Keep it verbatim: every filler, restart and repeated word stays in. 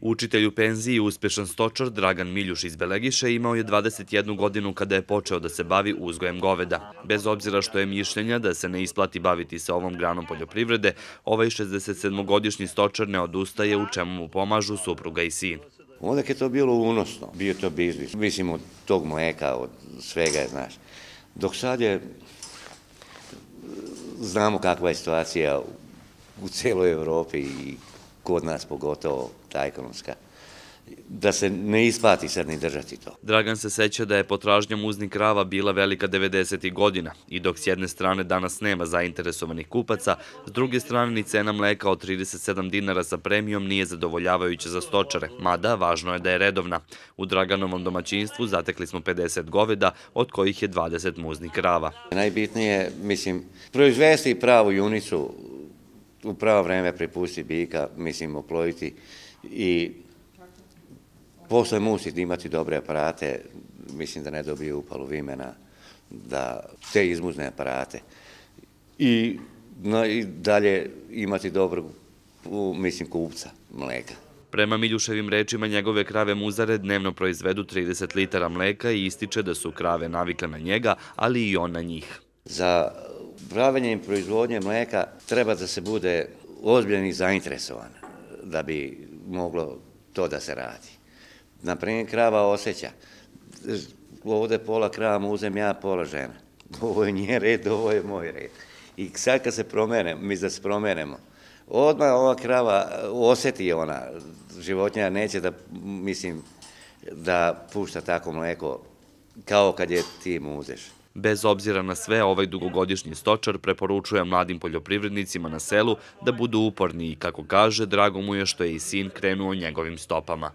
Učitelj u penziji i uspešan stočar Dragan Miljuš iz Belegiše imao je dvadeset jednu godinu kada je počeo da se bavi uzgojem goveda. Bez obzira što je mišljenja da se ne isplati baviti se ovom granom poljoprivrede, ovaj šezdesetsedmogodišnji stočar ne odustaje, u čemu mu pomažu supruga i sin. Onda je to bilo unosno, bio to biznis. Mislim od tog mleka, od svega je, znaš. Dok sad je, znamo kakva je situacija u cijeloj Evropi i kod nas pogotovo ta ekonomska, da se ne isplati sad ni držati to. Dragan se seća da je potražnja muznih krava bila velika devedesetih godina i dok s jedne strane danas nema zainteresovanih kupaca, s druge strane ni cena mleka od trideset sedam dinara sa premijom nije zadovoljavajuća za stočare, mada važno je da je redovna. U Draganovom domaćinstvu zatekli smo pedeset goveda, od kojih je dvadeset muznih krava. Najbitnije je, mislim, proizvesti pravu junicu, u pravo vreme pripustiti bika, mislim, oploditi i posle musiti imati dobre aparate, mislim da ne dobiju upalu vimena, da te izmuzne aparate i, no, i dalje imati dobrog, mislim, kupca mleka. Prema Miljuševim rečima, njegove krave muzare dnevno proizvedu trideset litara mleka i ističe da su krave navikle na njega, ali i on na njih. Za pravenje i proizvodnje mleka treba da se bude ozbiljan i zainteresovan da bi moglo to da se radi. Naprimjer, krava osjeća. Ovdje pola krava mu uzem ja, pola žena. Ovo je njen red, ovo je moj red. I sad kad se promenemo, mi da se promenemo, odmah ova krava osjeti ona, životinja neće da, mislim, da pušta tako mleko kao kad je ti mu uzeš. Bez obzira na sve, ovaj dugogodišnji stočar preporučuje mladim poljoprivrednicima na selu da budu uporni i, kako kaže, drago mu je što je i sin krenuo njegovim stopama.